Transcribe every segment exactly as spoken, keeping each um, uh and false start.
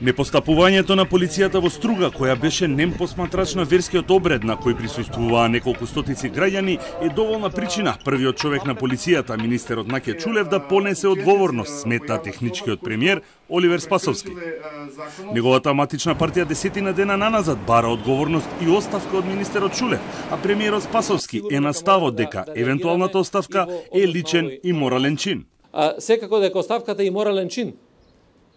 Непостапувањето на полицијата во Струга, која беше нем посматрач на верскиот обред на кој присуствуваа неколку стотици граѓани, е доволна причина првиот човек на полицијата, министерот Наке Чулев, да понесе одговорност, смета техничкиот премиер Оливер Спасовски. Неговата матична партија десетина дена наназад бара одговорност и оставка од министерот Чулев, а премиерот Спасовски е на ставот дека евентуалната оставка е личен и морален чин. А, секако дека оставката е и морален чин.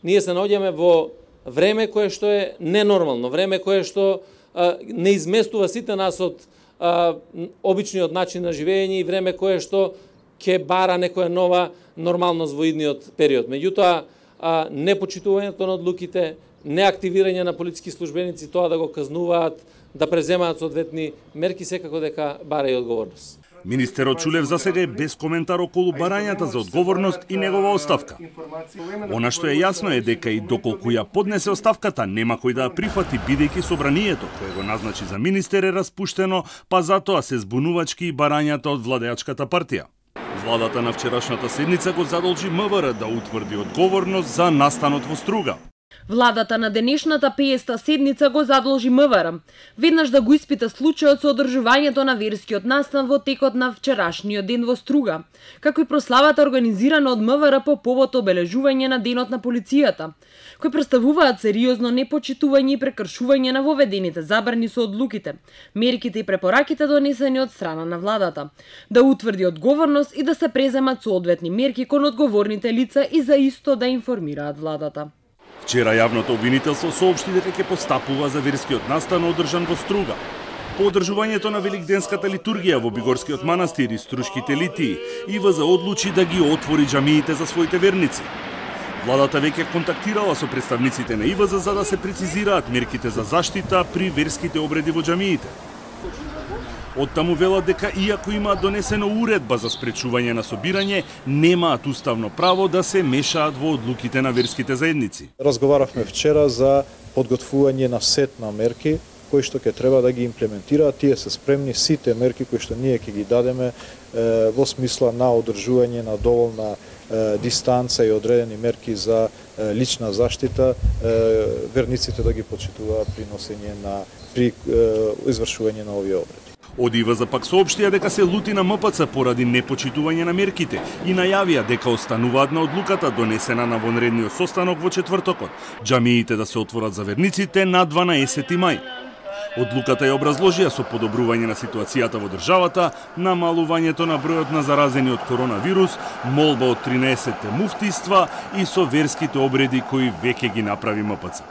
Ние се наоѓаме во време кое што е ненормално, време кое што а, не изместува сите нас од а, обичниот начин на живење и време кое што ќе бара некоја нова нормалност во идниот период. Меѓутоа, а, непочитувањето на одлуките, неактивирање на полициски службеници, тоа да го казнуваат, да преземаат соодветни мерки, секако дека бара и одговорност. Министерот Чулев засега е без коментар околу барањата за одговорност и негова оставка. Она што е јасно е дека и доколку ја поднесе оставката, нема кој да ја прифати, бидејќи собранието кое го назначи за министер е распуштено, па затоа се збунувачки и барањата од владеачката партија. Владата на вчерашната седница го задолжи МВР да утврди одговорност за настанот во Струга. Владата на денешната пеесета седница го задолжи МВР веднаш да го испита случајот со одржувањето на верскиот настан во текот на вчерашниот ден во Струга, како и прославата организирана од МВР по повод обележување на денот на полицијата, кои представуваат сериозно непочитување и прекршување на воведените забрани со одлуките, мерките и препораките донесени од страна на владата, да утврди одговорност и да се преземат соодветни мерки кон одговорните лица и за исто да информираат владата. Вчера јавното обвинителство соопшти дека ќе постапува за верскиот настан одржан во Струга. По одржувањето на великденската литургија во Бигорскиот манастир и Струшките литии, ИВЗ одлучи да ги отвори џамиите за своите верници. Владата веќе контактирала со представниците на ИВЗ за да се прецизираат мерките за заштита при верските обреди во џамиите. Оттаму велат дека иако имаат донесено уредба за спречување на собирање, немаат уставно право да се мешаат во одлуките на верските заедници. Разговаравме вчера за подготвување на сет на мерки кои што ќе треба да ги имплементираат. Тие се спремни сите мерки кои што ние ќе ги дадеме е, во смисла на одржување на доволна е, дистанца и одредени мерки за е, лична заштита, е, верниците да ги почитуваат при носење на при е, извршување на овие обреди. Од ИВЗ пак соопштија дека се лути на МПЦ поради непочитување на мерките и најавија дека остануваат на одлуката донесена на вонредниот состанок во четвртокот, џамиите да се отворат за верниците на дванаесети мај. Одлуката ја образложија со подобрување на ситуацијата во државата, намалувањето на бројот на заразени од коронавирус, молба од тринаесетте муфтиства и со верските обреди кои веќе ги направи МПЦ.